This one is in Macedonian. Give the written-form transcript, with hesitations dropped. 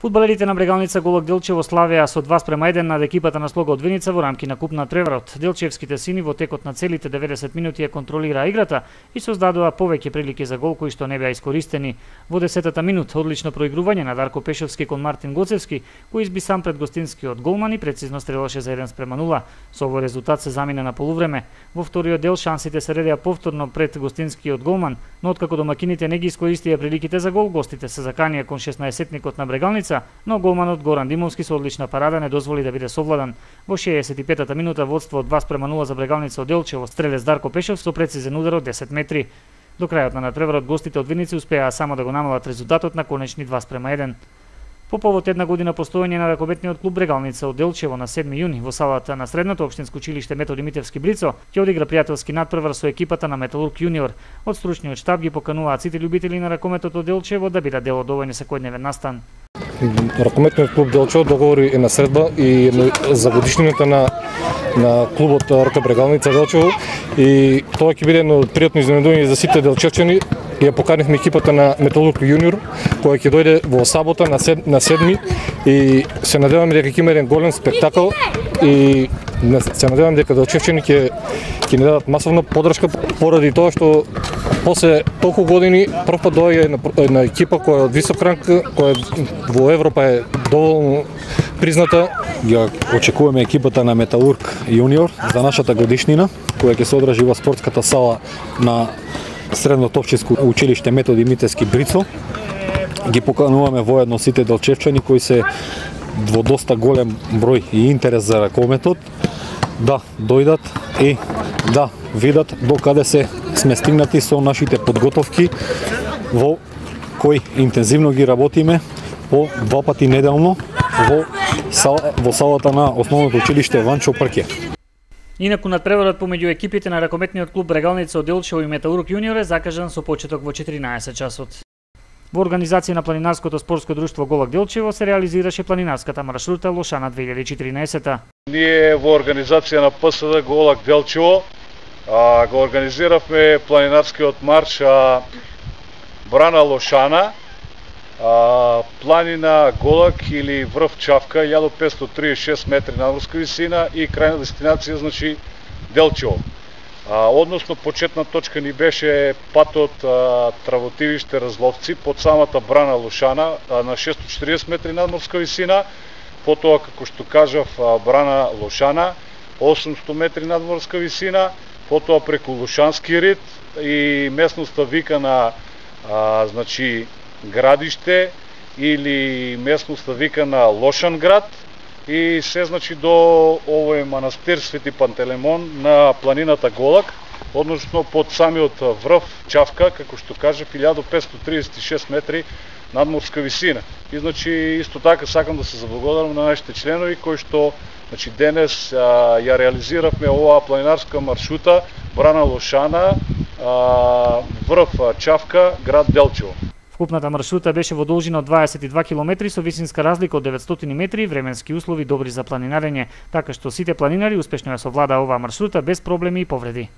Фудбалерите на Брегалница Голак Делчево славеа со 2:1 над екипата на Слога од Виница во рамки на Куп на Треврот. Делчевските сини во текот на целите 90 минути ја контролираа играта и создадоа повеќе прилики за гол кои што не беа искористени. Во 10-та минута одлично проигрување на Дарко Пешовски кон Мартин Гоцевски, кој изби сам пред гостинскиот голман и прецизно стрелаше за 1:0. Со овој резултат се замина на полувреме. Во вториот дел шансите се редеа повторно пред гостинскиот голман, но откако домакините не ги искористија приликите за гол, гостите се заканија кон 16-тникот на Брегалница, но голманот Горан Димовски со одлична парада не дозволи да биде совладан. Во 65-та минута водство од 2:0 за Брегалница од Делчево, стрелец Дарко Пешов со прецизен удар од 10 метри. До крајот на надпреварот гостите од Виница успеа само да го намалат резултатот на конечни 2:1. По повод една година постоење на ракометниот клуб Брегалница од Делчево на 7 јуни во салата на Средното општинско училиште Методи Митевски Брицо ќе одигра пријателски надпревар со екипата на Металург јуниор. Од стручниот штаб ги покануваат сите љубители на ракометот од Делчево да бидат дел од овој секојдневен настан. Ракометниот клуб Делчево договори една средба и за годишнината на клубот РК Брегалница Делчево и тоа ќе биде едно пријатно изненадување за сите делчевчани. Ја поканивме екипата на Металург јуниор која ќе дојде во сабота на 7 и се надеваме дека ќе има еден голем спектакл и се надевам дека делчевчани ќе ни дадат масовна поддршка поради тоа што после толку години прв пат доаѓа една екипа која е од висок ранг, која во Европа е доволно призната. Ја очекуваме екипата на Металург јуниор за нашата годишнина која ќе се одржи во спортската сала на Средното општинско училиште Методи Митевски Брицо. Ги покануваме воедно сите делчевчани кои се во доста голем број и интерес за ракометот да дојдат и да видат докаде сме стигнати со нашите подготовки во кои интензивно ги работиме по 2 пати неделно во салата на основното училиште Ванчо Прке. Инаку надпреварот помеѓу екипите на ракометниот клуб Брегалница од Делчево и Металург јуниор е закажан со почеток во 14 часот. Во организација на планинарското спортско друштво Голак Делчево се реализираше планинарската маршрута Лошана 2014. Ние во организација на ПСД Голак Делчево го организиравме планинарскиот марш Брана Лошана, планина Голак или врв Чавка, 1536 метри надморска висина и крајна дестинација значи Делчево. Односно почетна точка ни беше патот Травотивиште Разловци под самата Брана Лошана на 640 метри надморска висина, потоа како што кажав Брана Лошана 800 метри надморска висина, потоа преку Лошански рид и местноста викана значи Градиште или местноста викана Лошанград и се значи до овој манастир Свети Пантелеймон на планината Голак, односно под самиот врв Чавка, како што кажа 1536 метри надморска висина. И значи исто така сакам да се заблагодарам на нашите членови кои што значи денес ја реализиравме оваа планинарска маршрута Брана Лошана, врв Чавка, град Делчево. Вкупната маршрута беше во должина од 22 километри со висинска разлика од 900 метри и временски услови добри за планинарење, така што сите планинари успешно ја совладаа оваа маршрута без проблеми и повреди.